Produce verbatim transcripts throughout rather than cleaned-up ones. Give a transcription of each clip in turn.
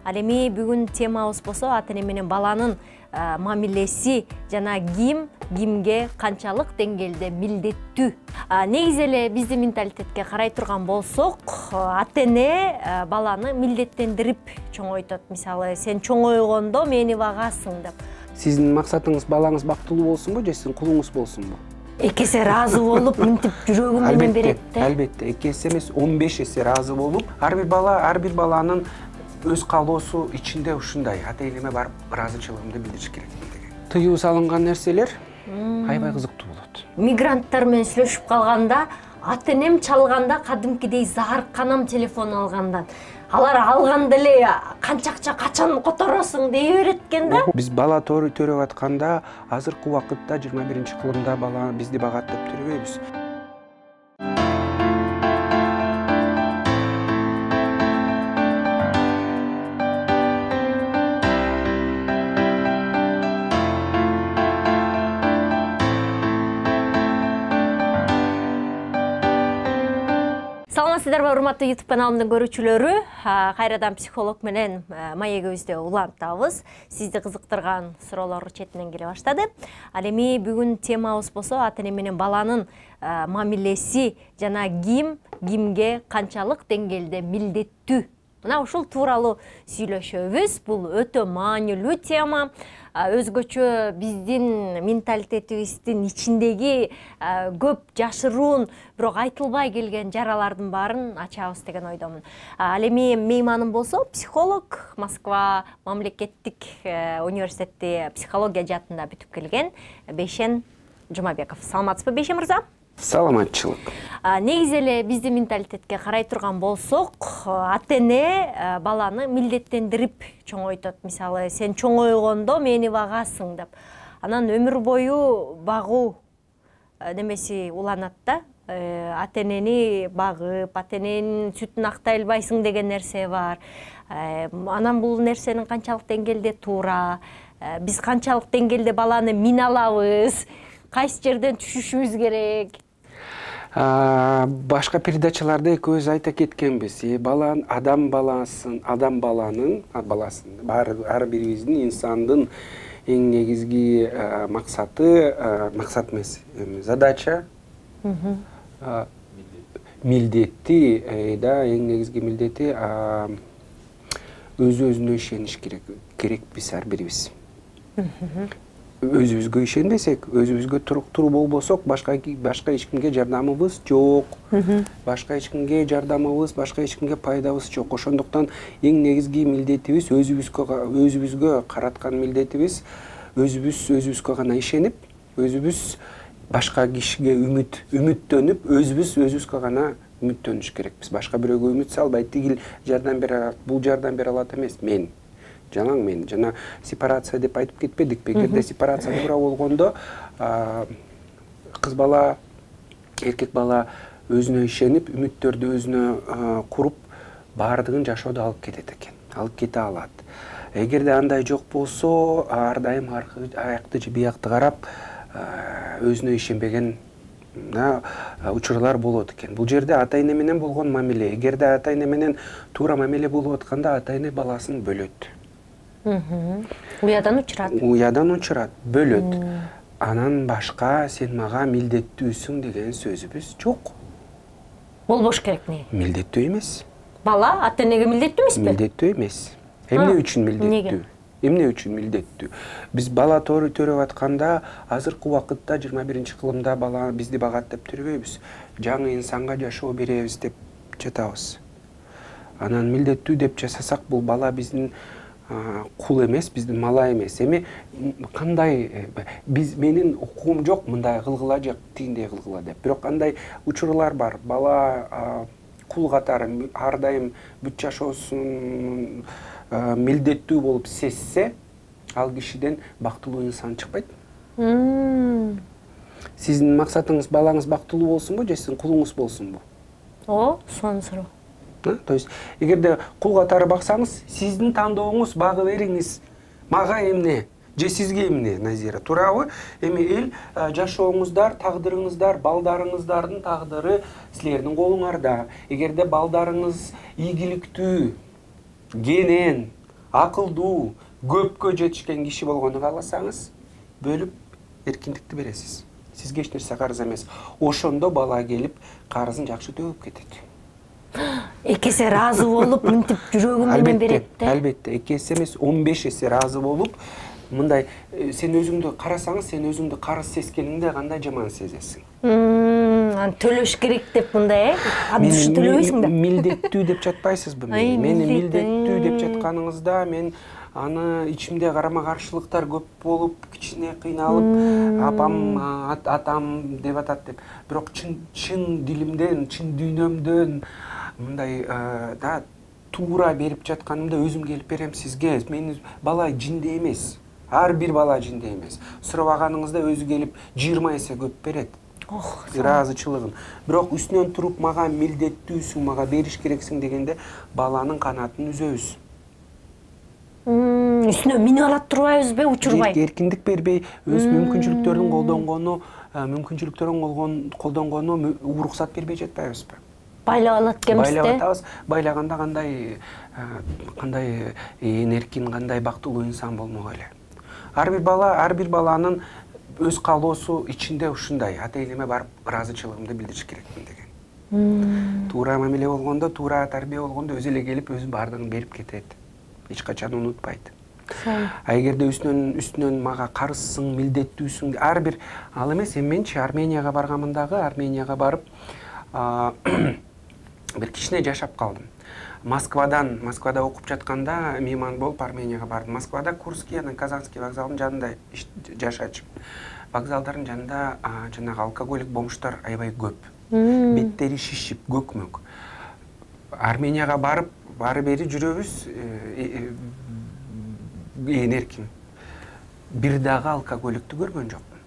Ал эми бүгүн темабыз болсо ата эне менен баланын мамилеси жана ким кимге канчалык деңгээлде милдеттүү. Негизи эле биздин менталитетке карай турган болсок, ата эне баланы милдеттендирип чоңойтот. Мисалы, сен чоңойгондо мени багасың деп. Сиздин максатыңыз балаңыз бактылуу болсунбу же сиздин кулуңуз болсунбу? Эки эсе разы болуп, мынтип жүрөгүм менен берет да. Албетте, эки эсе эмес, он беш эсе разы болуп, ар бир бала, ар бир баланын өз каалоосу ичинде ушундай. Ата энеме барып ыраазычылыгымды билдириш керек деген. Тыюу салынган нерселер аябай кызыктуу болот. Мигранттар менен сүйлөшүп калганда, ата энем чалганда кадимкидей заарканам телефон алгандан. Алар алганда эле канча акча качан которосуң дей берет экен да. Биз бала төрөп атканда, азыркы убакытта жыйырма биринчи кылымда бала бизди багаттап төрөбөйбүз. Саламатсыздарбы, урматтуу YouTube каналымдын көрүүчүлөрү? Кайрадан психолог менен маегибизде улантабыз. Сизди кызыктырган суроолор четинен келе баштады. Ал эми бүгүн темабыз болсо ата эне менен баланын мамилеси жана ким кимге канчалык деңгээлде милдеттүү. Мына ушул тууралуу сүйлөшөбүз. Бул өтө маанилүү тема. Өзгөчө биздин менталитетибиздин ичиндеги көп жашыруун, бирок айтылбай келген жаралардын баарын ачабыз деген ойдомун. Ал эми мейманым болсо психолог, Москва мамлекеттик университети психология жаатында бүтүп келген Бейшен Жумабеков. Саламатсызбы, Бейшен мырза? Саламатчылык. Негизи эле биздин менталитетке карай турган болсок, ата эне баланы милдеттендирип чоңойтот. Мисалы, сен чоңойгондо мени багасың деп. Анан өмүр бою багуу немеси уланат да. Ата энени багып, ата эненин сүтүн актай албайсың деген нерсе бар. Анан бул нерсенин канчалык деңгээлде туура, биз канчалык деңгээлде баланы мин алабыз, кайсы жерден түшүшүбүз керек? Башка передачаларда экөөбүз айта кеткенбиз. Балан адам баласын, адам баланын баласын, ар бирибиздин инсандын эң негизги максаты, максат эмес, задача, милдети, да, эң негизги милдети өз-өзүнө ишениш керек. Керекпиз ар бирибиз. Өзүбүзгө ишенбесек, өзүбүзгө туруктуу болбосок, башка башка эч кимге жардамыбыз жок. Башка эч кимге жардамыбыз, башка эч кимге пайдабыз жок. Ошондуктан эң негизги милдетибиз өзүбүзгө өзүбүзгө караткан милдетибиз өзүбүз өзүбүзгө гана ишенип, өзүбүз башка кишиге үмүт үмүттөнүп, өзүбүз өзүбүзгө гана үмүттөнүш керекпиз. Башка бирөөгө үмүт салбай, тигил жардам бере алат, бул жардам бере алат эмес, мен жалаң мен жана сепарация деп айтып кетпедикпи? Эгерде сепарация туура болгондо кыз бала, эркек бала өзүнө ишенип, үмүттөрдү өзүнө куруп, баардыгын жашоодо алып кетет экен, алып кете алат. Эгерде андай жок болсо, ар дайым аякты же биякты карап, өзүнө ишенбеген учурлар болот экен. Бул жерде ата эне менен болгон мамиле, эгерде ата эне менен туура мамиле болуп атканда, ата эне баласын бөлөт. Уядан учурат. Уядан учурат, бөлөт. Анан башка сен мага милдеттүүсүң деген сөзүбүз жок. Болбош керек не? Милдеттүү эмес. Бала ата энеге милдеттүү эмеспи? Милдеттүү эмес. Эмне үчүн милдеттүү? Эмне үчүн милдеттүү? Биз бала төрөп атканда, азыркы убакытта жыйырма биринчи кылымда бала бизди багаттап төрөбөйбүз. Жаңы инсанга жашоо беребиз деп жатабыз. Анан милдеттүү деп жасасак, бул бала биздин кул эмес, биздин мала эмес. Эми кандай биз менин укугум жок, мындай кылгыла же тигиндей кылгыла деп. Бирок кандай учурлар бар. Бала кул катары ар дайым бүт жашоосун милдеттүү болуп сезсе, ал кишиден бактылуу инсан чыкпайт. Сиздин максатыңыз балаңыз бактылуу болсунбу же сиздин кулуңуз болсунбу? О, сонун суроо. То есть, эгерде кул катары баксаңыз, сиздин тандооңуз багы бериңиз. Мага эмне? Же сизге эмне, Назира? Туурабы? Эми эл жашооңуздар, тагдырыңыздар, балдарыңыздардын тагдыры силердин колуңарда. Эгерде балдарыңыз ийгиликтүү, кенен, акылдуу, көпкө жетишкен киши болгону кааласаңыз, бөлүп эркиндикти бересиз. Сизге эч нерсе карыз эмес. Ошондо бала келип карызын жакшы төөгүп кетет. эки эсе ыраазы болуп, мынтип жүрөгүм менен берет да. Албетте, эки эсе эмес, он беш эсе ыраазы болуп, мындай сен өзүңдү карасаңыз, сен өзүңдү карыз сезгениңде кандай жаман сезесиң. Аны төлөш керек деп мындай, э? Абдыш төлөбөйсүң да. Милдеттүү деп жатпайсызбы мени? Мени милдеттүү деп жатканыңызда мен аны ичимде карама каршылыктар көп болуп, кичине кыйналып, апам, атам деп атат деп. Бирок чын чын дилимден, чын дүйнөмдөн мындай да туура берип жатканымда өзүм келип берем сизге. Мени бала жинде эмес. Ар бир бала жинде эмес. Сурабаганыңызда өзү келип жыйырма эсе көп берет. Ох, ыраазычылыгын. Бирок үстүнөн туруп мага милдеттүүсүң, мага бериш керексиң дегенде баланын канатын үзөбүз. Үстүнө минип алат турбайбызбы, учурбай? Эркиндик бербей, өз мүмкүнчүлүктөрүн колдонгону, мүмкүнчүлүктөрүн колдонгону уруксат бербей жатпайбызбы? Байлап алат экенбиз да. Байлап атабыз. Байлаганда кандай кандай эркин, кандай бактылуу инсан болмок эле. Ар бир бала, ар бир баланын өз каалоосу ичинде ушундай. Ата-энеме барып ыраазычылыгымды билдириш керекмин деген. Туура мамиле болгондо, туура тарбия болгондо өзү эле келип өзүнүн баардыгын берип кетет. Эч качан унутпайт. А эгерде үстүнөн үстүнөн мага карызсың, милдеттүүсүң, ар бир ал эмес, эми менчи Арменияга барганмын дагы, Арменияга барып бир кичине жашап калдым. Москвадан, Москвада окуп жатканда мейман болуп Арменияга бардым. Москвада Курский, анан Казанский вокзалдын жанында жашачым. Вокзалдардын жанында жанагы алкоголик бомждор аябай көп. Беттери шишип, көкмөк. Арменияга барып, бары бери жүрөбүз, ээн эркин. Бир дагы алкоголиктү көргөн жокмун.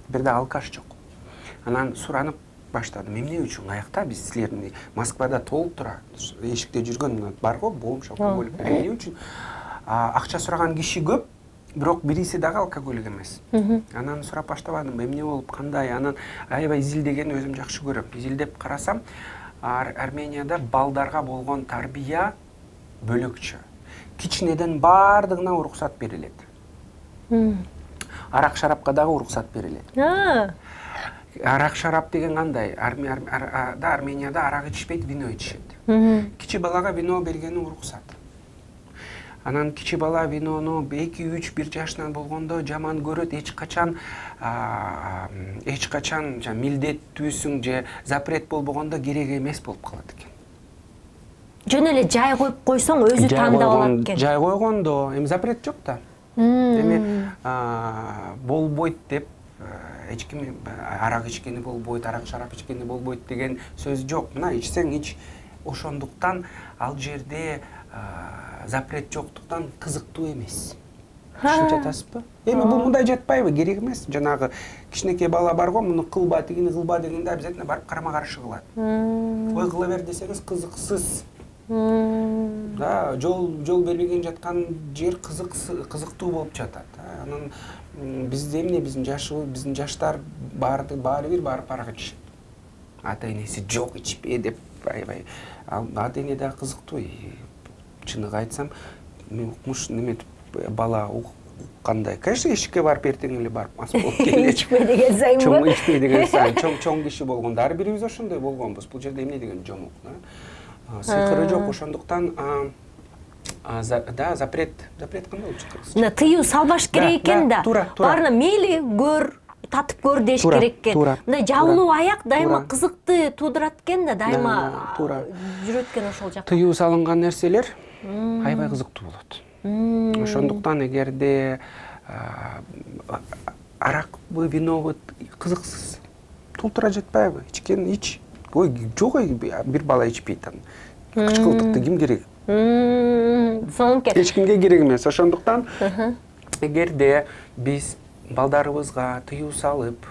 Бир дагы алкаш жок. Анан суранып баштадым. Эмне үчүн аякта биз силерни Москвада толуп тура эшикте жүргөн бар го, бомж, алкоголик. Эмне үчүн акча сураган киши көп, бирок бириси дагы алкоголик эмес. Анан сурап баштабадым, эмне болуп, кандай? Анан аябай изилдегенди өзүм жакшы көрөм. Изилдеп карасам, Арменияда балдарга болгон тарбия бөлөкчө. Кичинеден баардыгына уруксат берилет. Арак шарапка дагы уруксат берилет. Арак шарап деген кандай? Да, Арменияда арак ичишпейт, вино ичишет. Кичи балага вино бергени уруксат. Анан кичи бала винону эки үч бир жашынан болгондо жаман көрөт, эч качан эч качан милдеттүүсүң же запрет болбогондо керек эмес болуп калат экен. Жөн эле жай коюп койсоң өзү тандап алат экен. Жай койгондо эми запрет жок да. Эми болбойт деп эч ким арак ичкени болбойт, арак шарап ичкени болбойт деген сөз жок. Мына ичсең ич. Ошондуктан ал жерде запрет жоктуктан кызыктуу эмес. Түшүнүп жатасызбы? Эми бул мындай жатпайбы? Керек эмес. Жанагы кичинекей бала бар го, муну кылба, тигини кылба дегенде обязательно барып карама каршы кылат. Ой, кыла бер десеңиз кызыксыз. Да, жол жол бербеген жаткан жер кызыктуу болуп жатат. Анан бизде эмне, биздин жашыбыз, биздин жаштар баары баары бир барып арак ичишет. Ата-энеси жок ичпе деп аябай. Ата-эне да кызыктуу. Чыныгы айтсам, мен укмуш неметип бала уккандай. Конечно, эшикке барып эртең эле барып мас болуп келет. Ичпе деген сайын Чоң ичпе деген сайын, чоң чоң киши болгондо ар бирибиз ошондой болгонбуз. Бул жерде эмне деген жомок, да? Сыйкыры жок, ошондуктан да, запрет, запрет кандай болуп чыкты? Мына тыюу салбаш керек экен да. Баарына мейли көр, татып көр деш керек экен. Мындай жабылуу аяк дайыма кызыкты туудурат экен да, дайыма жүрөт экен ошол жакка. Тыюу салынган нерселер аябай кызыктуу болот. Ошондуктан эгерде аракпы, винобу кызыксыз тултура жатпайбы? Ичкен ич. Ой, жок, бир бала ичпейт анан. Кычкылтыкты ким керек? Соңке. Эч кимге керек эмес. Ошондуктан эгерде биз балдарыбызга тыюу салып,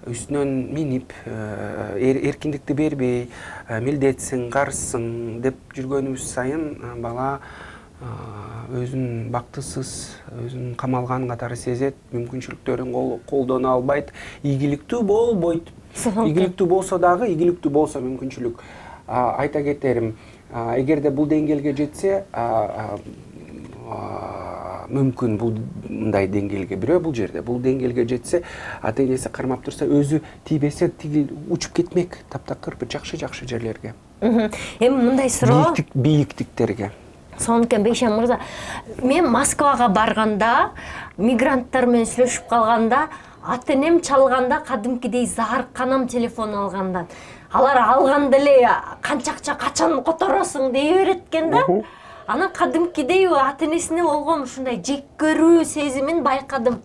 үстүнөн минип, эркиндикти бербей, милдетсиң, карызсың деп жүргөнүбүз сайын бала өзүн бактысыз, өзүн камалган катары сезет, мүмкүнчүлүктөрүн колдоно албайт, ийгиликтүү болбойт. Ийгиликтүү болсо дагы, ийгиликтүү болсо мүмкүнчүлүк айта кетерим, эгерде бул деңгээлге жетсе, мүмкүн бул мындай деңгээлге, бирөө бул жерде бул деңгээлге жетсе, ата энеси кармап турса, өзү тийбесе тиги учуп кетмек таптакыр бир жакшы жакшы жерлерге. Эми мындай суроо. Бийиктиктерге. Сонун Бейшен мырза, мен Москвага барганда, мигранттар менен сүйлөшүп калганда, ата энем чалганда кадимкидей заарканам телефон алгандан. Алар алганда эле канча акча качан которосуң дей берет экен да. Анан кадимкидей ата энесине болгон ушундай жек көрүү сезимин байкадым.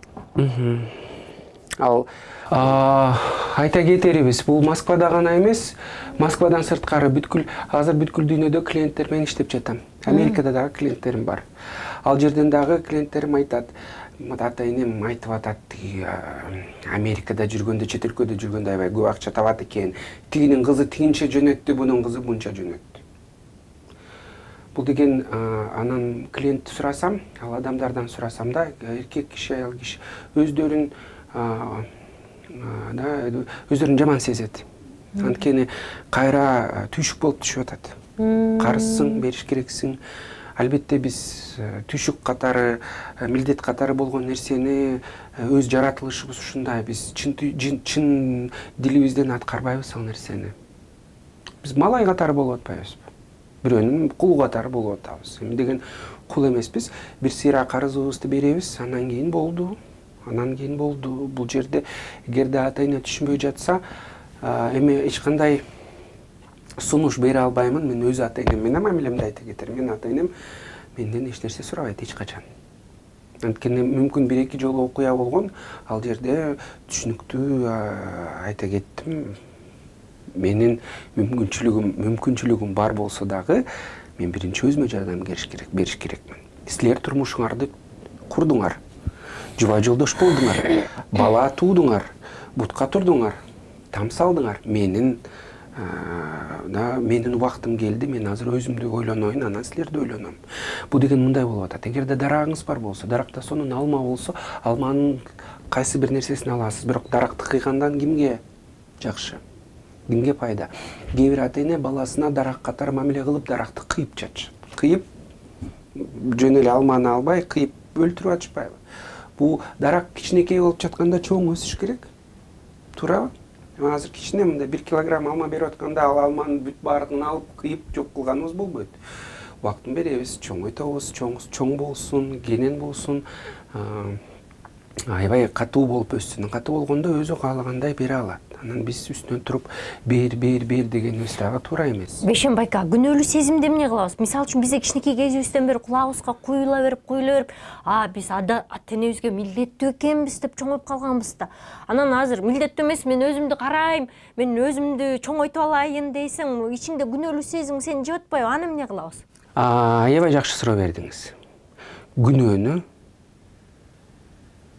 Ал айта кетерибиз, бул Москвада гана эмес, Москвадан сырткары бүткүл азыр бүткүл дүйнөдө клиенттер менен иштеп жатам. Америкада дагы клиенттерим бар. Ал жерден дагы клиенттерим айтат, ата энем айтып атат, Америкада жүргөндө, чет өлкөдө жүргөндө аябай көп акча табат экен. Тигинин кызы тигинче жөнөттү, бунун кызы мынча жөнөттү. Бул деген анан клиент сурасам, ал адамдардан сурасам да, эркек киши, аял киши өздөрүн да өздөрүн жаман сезет. Анткени кайра түйшүк болуп түшүп атат. Карызсың, бериш керексиң. Албетте биз түйшүк катары, милдет катары болгон нерсени өз жаратылышыбыз ушундай. Биз чын дилибизден аткарбайбыз ал нерсени. Биз малай катары болуп атпайбызбы? Бирөөнүн кулу катары болуп атабыз. Эми деген кул эмеспиз. Бир сыйра карызыбызды беребиз, андан кийин болду. Анан кийин болду. Бул жерде эгерде ата эне түшүнбөй жатса, эми эч кандай сунуш бере албаймын. Мен өз ата энем менен мамилемди айта кетерим. Мен ата энем менден эч нерсе сурабайт эч качан. Анткени мүмкүн бир эки жолу окуя болгон, ал жерде түшүнүктүү айта кеттим. Менин мүмкүнчүлүгүм, мүмкүнчүлүгүм бар болсо дагы, мен биринчи өзүмө жардам бериш керек, бериш керекмин. Силер турмушуңарды курдуңар. Жуба жолдош болдуңар, бала туудуңар, бутка турдуңар, там салдыңар. Менин да менин убактым келди, мен азыр өзүмдү ойлоноюн, анан силерди ойлоном. Бул деген мындай болуп атат. Эгерде дарагыңыз бар болсо, даракта сонун алма болсо, алманын кайсы бир нерсесин аласыз, бирок даракты кыйгандан кимге жакшы? Кимге пайда? Кээ бир ата эне баласына дарак катары мамиле кылып даракты кыйып жатышат. Кыйып жөн эле алманы албай, кыйып өлтүрүп атышпайбы? Бул дарак кичинекей болуп жатканда чоң өсүш керек. Туурабы? Азыр кичине мындай бир килограмм алма берип атканда, ал алманын бүт баардыгын алып, кыйып жок кылганыбыз болбойт. Убактын беребиз, чоңойтобуз, чоң болсун, кенен болсун, аябай катуу болуп өссүн. Катуу болгондо өзү каалагандай бере алат. Анан биз үстүнөн туруп бер, бер, бер дегенибиз дагы туура эмес. Бейшен байка, күнөөлүү сезимди эмне кылабыз? Мисалы үчүн бизде кичинекей кезибизден бери кулагыбызга куюла берип, куюла берип, а биз ата энебизге милдеттүү экенбиз деп чоңоюп калганбыз да. Анан азыр милдеттүү эмес, мен өзүмдү карайм, мен өзүмдү чоңойтуп алайын дейсең, ичиңде күнөөлүү сезим сени жеп атпайбы? Аны эмне кылабыз? Аябай жакшы суроо бердиңиз. Күнөөнү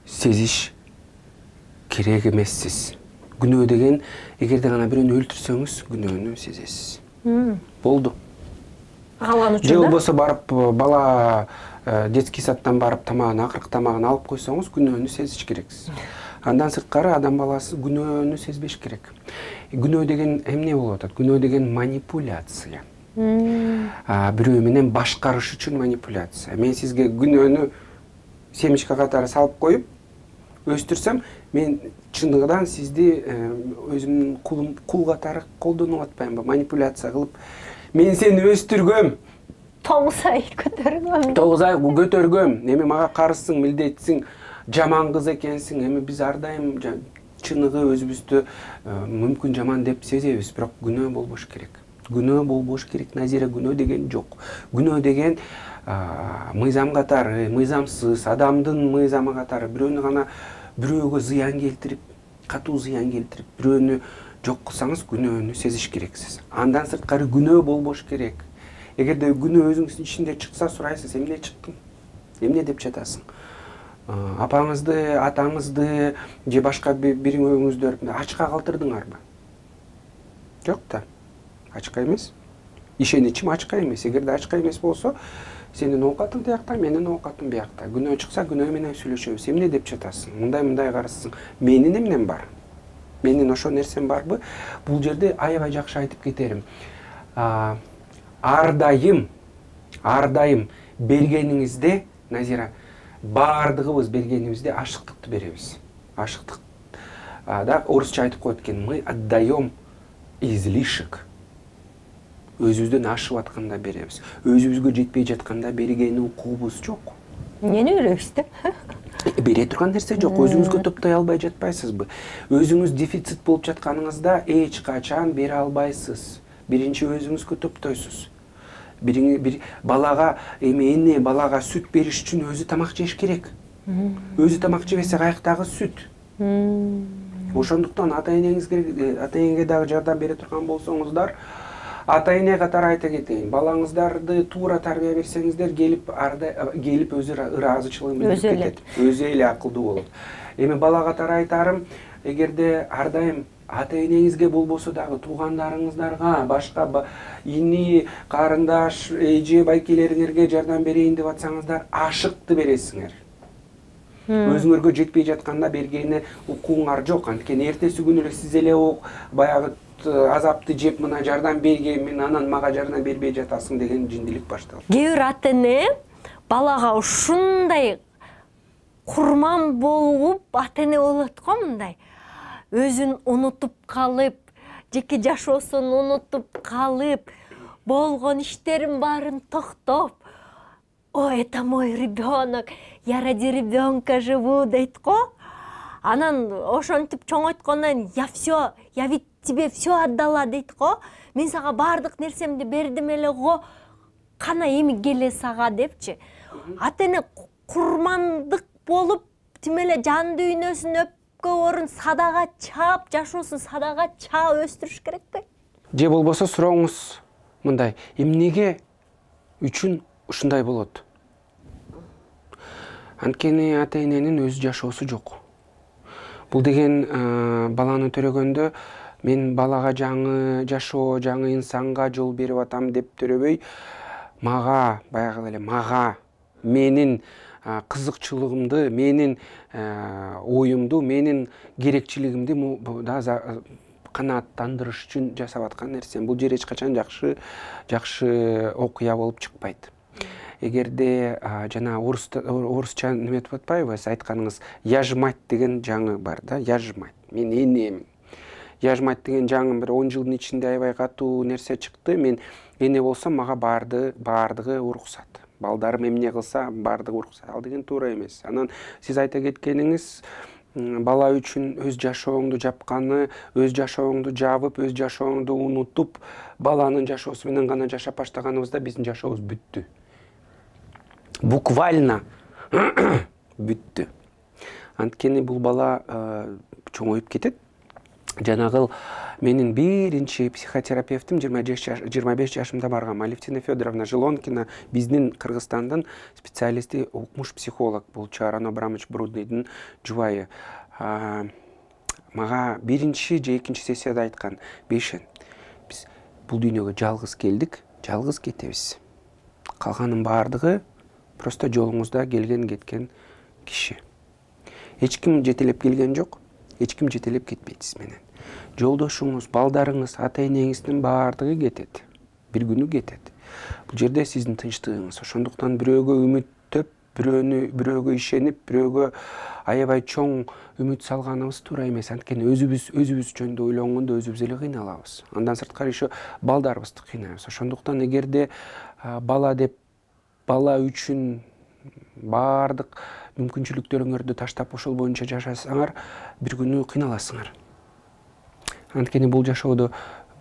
сезиш керек эмессиз. Күнөө деген, эгерде гана бирөөнү өлтүрсөңүз, күнөөнү сезесиз. Болду. Калган үчүн же болбосо барып бала детский садтан барып тамагын, акыркы тамагын алып койсоңуз, күнөөнү сезиш керексиз. Андан сырткары адам баласы күнөөнү сезбеш керек. Күнөө деген эмне болуп атат? Күнөө деген манипуляция. Бирөө менен башкарыш үчүн манипуляция. Мен сизге күнөөнү семечка катары салып коюп өстүрсөм, мен чындыгынан сизди өзүмдүн кулум, кул катары колдонуп атпаймынбы? Манипуляция кылып, мен сени өстүргөм. тогуз ай көтөргөм. тогуз ай көтөргөм. Эми мага карызсың, милдетсиң, жаман кыз экенсиң. Эми биз ар дайым чыныгы өзүбүздү мүмкүн жаман деп сезебиз, бирок күнөө болбош керек. Күнөө болбош керек. Назира, күнөө деген жок. Күнөө деген мыйзам катары, мыйзамсыз, адамдын мыйзамы катары бирөөнү гана бирөөгө зыян келтирип, катуу зыян келтирип, бирөөнү жок кылсаңыз, күнөөнү сезиш керексиз. Андан сырткары күнөө болбош керек. Эгерде күнөө өзүңүздүн ичинде чыкса, сурайсыз, эмне чыктың? Эмне деп жатасың? Апаңызды, атаңызды же башка бириңөөңүздөр ачка калтырдыңарбы? Жок да. Ачка эмес. Ишеничим ачка эмес. Эгерде ачка эмес болсо, сенин оокатың тиякта, менин оокатым биякта. Күнөө чыкса, күнөө менен сүйлөшөбүз. Эмне деп жатасың? Мындай-мындай карасың. Менин эмнем бар? Менин ошо нерсем барбы? Бул жерде аябай жакшы айтып кетерим. Ар дайым, ар дайым бергениңизде, Назира, баардыгыбыз бергенибизде ашыктыкты беребиз. Ашыктык. Да, орусча айтып коет экен, мы отдаем излишек. Өзүбүздөн ашып атканда беребиз. Өзүбүзгө жетпей жатканда берген укугубуз жок. Эмнени беребиз да? Бере турган нерсе жок. Өзүңүзгө топтой албай жатпайсызбы? Өзүңүз дефицит болуп жатканыңызда эч качан бере албайсыз. Биринчи өзүңүзгө топтойсуз. Бир балага эми эне балага сүт бериш үчүн өзү тамак жеш керек. Өзү тамак жебесе каяктагы сүт? Ошондуктан ата-энеңизге ата-энеңге дагы жардам бере турган болсоңуздар, ата-эне катары айта кетейин, балаңыздарды туура тарбия берсеңиздер, келип арда келип өзү ыраазычылыгын билдирип кетет. Өзү эле акылдуу болот. Эми бала катары айтарым, эгерде ар дайым ата-энеңизге болбосо дагы туугандарыңыздарга, башка ини, карындаш, эже, байкелериңерге жардам берейин деп атсаңыздар, ашыкты бересиңер. Өзүңөргө жетпей жатканда бергени укугуңар жок. Анткени эртеси күнү эле сиз эле баягы азапты жеп мына жардам бергенмин, анан мага жардам бербей жатасың деген жиндилик башталат. Кээ бир ата-эне балага ушундай курман болуп, ата-эне болот го мындай. Өзүн унутуп калып, жеке жашоосун унутуп калып, болгон иштерин баарын токтоп, ой, это мой ребенок, я ради ребенка живу дейт го. Анан ошентип чоңойткондон я все, я ведь тебе все отдала дейт го. Мен сага баардык нерсемди бердим эле го. Кана эми келе сага депчи. Ата-эне курмандык болуп, тим эле жан дүйнөсүн өпкө орун садага чаап, жашоосун садага чаап өстүрүш керекпи? Же болбосо сурооңуз мындай, эмнеге үчүн ушундай болот? Анткени ата-эненин өз жашоосу жок. Бул деген баланы төрөгөндө мен балага жаңы жашоо, жаңы инсанга жол берип атам деп төрөбөй, мага, баягы эле мага, менин кызыкчылыгымды, менин оюмду, менин керекчилигимди да канааттандырыш үчүн жасап аткан нерсем. Бул жер эч качан жакшы, жакшы окуя болуп чыкпайт. Эгерде жана орусча неме деп атпайбы, сиз айтканыңыз, я ж мать деген жаңы бар да, я ж мать, мен энемин. Я ж мать деген жаңы бир он жылдын ичинде аябай катуу нерсе чыкты. Мен эне болсом, мага барды, бардыгы уруксат. Балдарым эмне кылса, бардыгы уруксат. Ал деген туура эмес. Анан сиз айта кеткениңиз, бала үчүн өз жашооңду жапканы, өз жашооңду жабып, өз жашооңду унутуп, баланын жашоосу менен гана жашап баштаганыбызда биздин жашообуз бүттү. Буквально бүттү. Анткени бул бала чоңоюп кетет. Жанагыл менин биринчи психотерапевтим жыйырма беш жашымда барган Алевтина Федоровна Желонкина, биздин Кыргызстандын специалисти, укмуш психолог, бул Чаран Абрамович Брудныйдын жубайы. Мага биринчи же экинчи сессияда айткан, Бейшен, биз бул дүйнөгө жалгыз келдик, жалгыз кетебиз. Калганын баардыгы просто жолуңузда келген кеткен киши. Эч ким жетелеп келген жок, эч ким жетелеп кетпейт сиз менен. Жолдошуңуз, балдарыңыз, ата-энеңиздин баардыгы кетет. Бир күнү кетет. Бул жерде сиздин тынчтыгыңыз. Ошондуктан бирөөгө үмүттөп, бирөөнү бирөөгө ишенип, бирөөгө аябай чоң үмүт салганыбыз туура эмес. Анткени өзүбүз өзүбүз жөнүндө ойлонгондо өзүбүз эле кыйналабыз. Андан сырткары еще балдарыбызды кыйнайбыз. Ошондуктан эгерде бала деп бала үчүн баардык мүмкүнчүлүктөрүңөрдү таштап ошол боюнча жашасаңар, бир күнү кыйналасыңар. Анткени бул жашоодо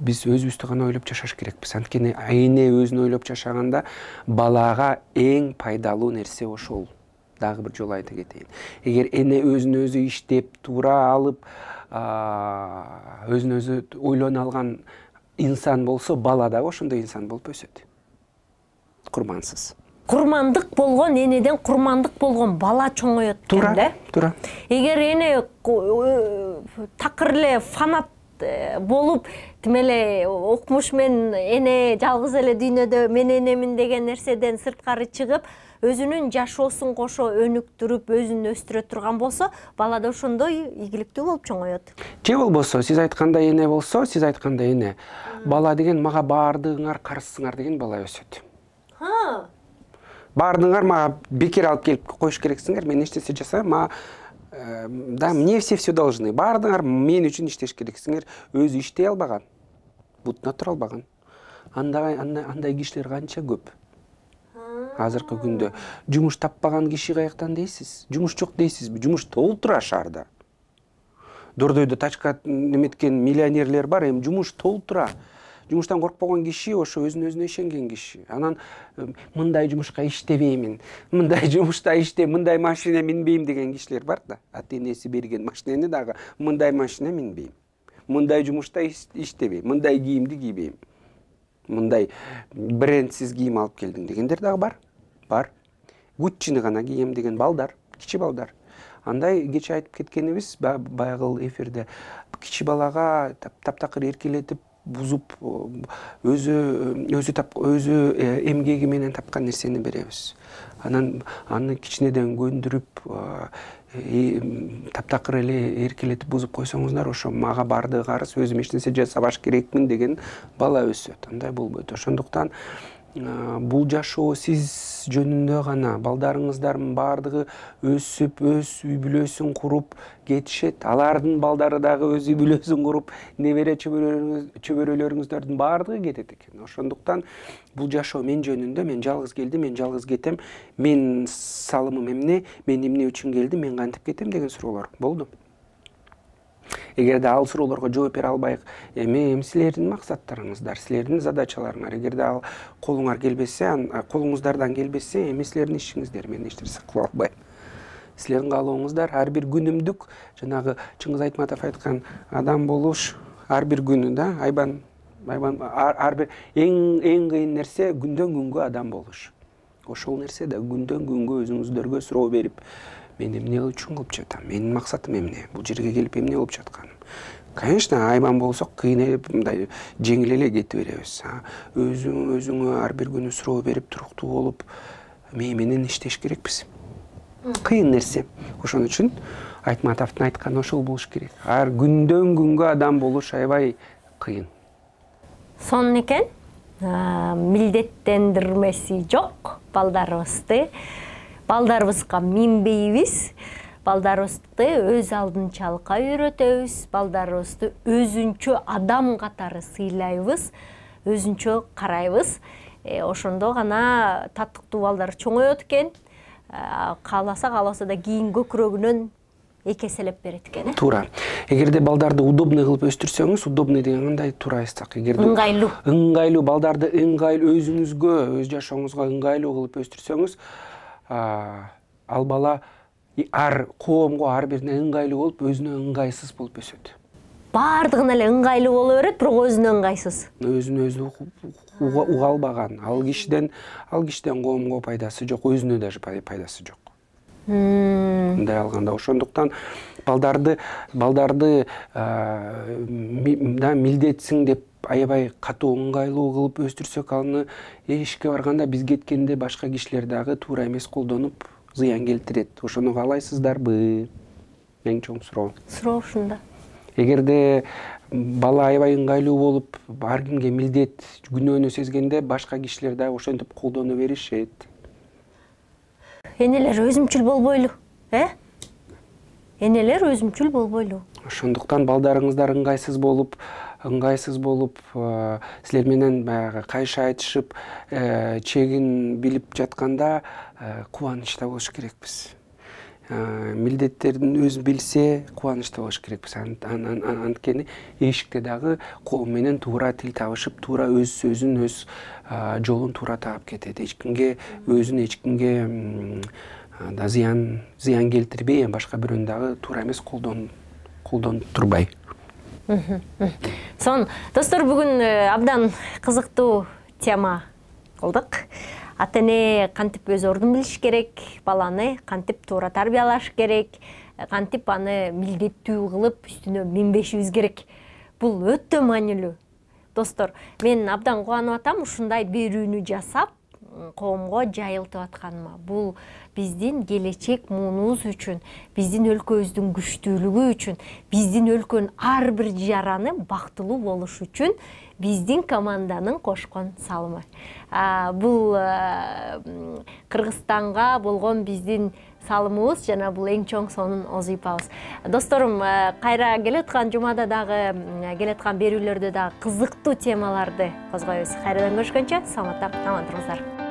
биз өзүбүздү гана ойлоп жашаш керекпиз. Анткени эне өзүн ойлоп жашаганда балага эң пайдалуу нерсе ошол. Дагы бир жолу айта кетейин. Эгер эне өзүн өзү иштеп, туура алып, өзүн өзү ойлоно алган инсан болсо, бала дагы ошондой инсан болуп өсөт. Курмансыз. Курмандык болгон энеден курмандык болгон бала чоңоет экен да. Туура. Эгер эне такыр эле фанат болуп, тим эле укмуш мен эне жалгыз эле дүйнөдө мен энемин деген нерседен сырткары чыгып, өзүнүн жашоосун кошо өнүктүрүп, өзүн өстүрө турган болсо, бала да ошондой ийгиликтүү болуп чоңоет. Же болбосо, сиз айткандай эне болсо, сиз айткандай эне, бала деген мага баардыгыңар карызсыңар деген бала өсөт. Ха. баардыгыңар мага бекер алып келип коюш керексиңер, мен эчтесе жасайм, мага да мне все все должны. Баардыгыңар мен үчүн иштеш керексиңер. Өзү иштей албаган, бутуна тура албаган. Андай андай кишилер канча көп. Азыркы күндө жумуш таппаган киши каяктан дейсиз? Жумуш жок дейсизби? Жумуш толтура шаарда. Дордойдо тачка неметкен миллионерлер бар, эми жумуш толтура. Жумуштан коркпогон киши ошо өзүнө өзүнө ишенген киши. Анан мындай жумушка иштебеймин, мындай жумушта иштеп, мындай машина минбейм деген кишилер бар да. Ата-энеси берген машинени дагы мындай машина минбейм. Мындай жумушта иштебейм, мындай кийимди кийбейм. Мындай брендсиз кийим алып келдим дегендер дагы бар. Бар. Гуччини гана кийем деген балдар, кичи балдар. Андай кече айтып кеткенибиз баягы эфирде кичи балага таптакыр эркелетип бузуп өзү өзү тап өзү эмгеги менен тапкан нерсени беребиз. Анан аны кичинеден көндүрүп таптакыр эле эркелетип бузуп койсоңуздар, ошо мага баардыгы арыз, өзүм эч нерсе жасабаш керекмин деген бала өсөт. Андай болбойт. Ошондуктан бул жашоо сиз жөнүндө гана. Балдарыңыздардын баардыгы өсүп, өз үй бүлөсүн куруп кетишет. Алардын балдары дагы өз үй бүлөсүн куруп, небере чөбөрөлөрүңүздөрдүн баардыгы кетет экен. Ошондуктан бул жашоо мен жөнүндө, мен жалгыз келдим, мен жалгыз кетем, мен салымым эмне, мен эмне үчүн келдим, мен кантип кетем деген суроолор болду. Эгерде ал суроолорго жооп бере албайык, эми эми силердин максаттарыңыздар, силердин задачаларыңар, эгерде ал колуңар келбесе, колуңуздардан келбесе, эми силердин ишиңиздер, мен эч нерсе кыла албайм. Силердин каалооңуздар ар бир күнүмдүк, жанагы Чыңгыз Айтматов айткан адам болуш ар бир күнү да, айбан айбан ар бир эң эң кыйын нерсе күндөн күнгө адам болуш. Ошол нерсе да күндөн күнгө өзүңүздөргө суроо берип, мен эмне үчүн кылып жатам? Менин максатым эмне? Бул жерге келип эмне кылып жатканым? Конечно, айбан болсок, кыйнелип, мындай жеңил эле кете беребиз. Өзүң өзүңө ар бир күнү суроо берип, туруктуу болуп, мээ менен иштеш керекпиз. Кыйын нерсе. Ошон үчүн Айтматовдун айтканы ошол болуш керек. Ар күндөн күнгө адам болуш аябай кыйын. Сонун экен. Милдеттендирмеси жок балдарыбызды. Балдарыбызга минбейбиз. Балдарыбызды өз алдынчалыкка үйрөтөбүз. Балдарыбызды өзүнчө адам катары сыйлайбыз, өзүнчө карайбыз. Ошондо гана татыктуу балдар чоңоет экен. Кааласа кааласа да кийин көкүрөгүнөн эки эселеп берет экен. Туура. Эгерде балдарды удобный кылып өстүрсөңүз, удобный деген кандай туура айтсак, эгерде ыңгайлуу, ыңгайлуу балдарды ыңгайлуу өзүңүзгө, өз жашооңузга ыңгайлуу кылып өстүрсөңүз, ал бала ар коомго ар бирине ыңгайлуу болуп, өзүнө ыңгайсыз болуп өсөт. Баардыгына эле ыңгайлуу боло берет, бирок өзүнө ыңгайсыз. Өзүнө өзү уга албаган. Ал кишиден, ал кишиден коомго пайдасы жок, өзүнө даже пайдасы жок. Мындай алганда, ошондуктан балдарды балдарды да милдетсиң деп аябай катуу ыңгайлуу кылып өстүрсөк, аны ишке барганда биз кеткенде башка кишилер дагы туура эмес колдонуп зыян келтирет. Ошону каалайсыздарбы? Эң чоң суроо. Суроо ушунда. Эгерде бала аябай ыңгайлуу болуп, ар кимге милдет күнөөнү сезгенде, башка кишилер дагы ошентип колдоно беришет. Энелер өзүмчүл болбойлу, э? Энелер өзүмчүл болбойлу. Ошондуктан балдарыңыздар ыңгайсыз болуп, ыңгайсыз болуп, силер менен баягы кайша айтышып, чегин билип жатканда кубанычта болуш керекпиз. Милдеттерин өз билсе, кубанычта болуш керекпиз. Анткени эшикте дагы коом менен туура тил табышып, туура өз сөзүн, өз жолун туура таап кетет. Эч кимге өзүн эч кимге да зыян зыян келтирбей, башка бирөөнү дагы туура эмес колдон колдонуп турбай. Сон, достор, бүгүн абдан кызыктуу тема кылдык. Ата-эне кантип өз ордун билиш керек, баланы кантип туура тарбиялаш керек, кантип аны милдеттүү кылып үстүнө минбешибиз керек. Бул өтө маанилүү. Достор, мен абдан кубанып атам ушундай берүүнү жасап, коомго жайылтып атканыма. Бул биздин келечек муунубуз үчүн, биздин өлкөбүздүн күчтүүлүгү үчүн, биздин өлкөнүн ар бир жараны бактылуу болуш үчүн биздин команданын кошкон салымы. Бул Кыргызстанга болгон биздин салымыбыз жана бул эң чоң сонун озыйпабыз. Досторум, кайра келаткан жумада дагы, келаткан берүүлөрдө дагы кызыктуу темаларды козгойбуз. Кайрадан көрүшкөнчө, саламатта, аман туруңуздар.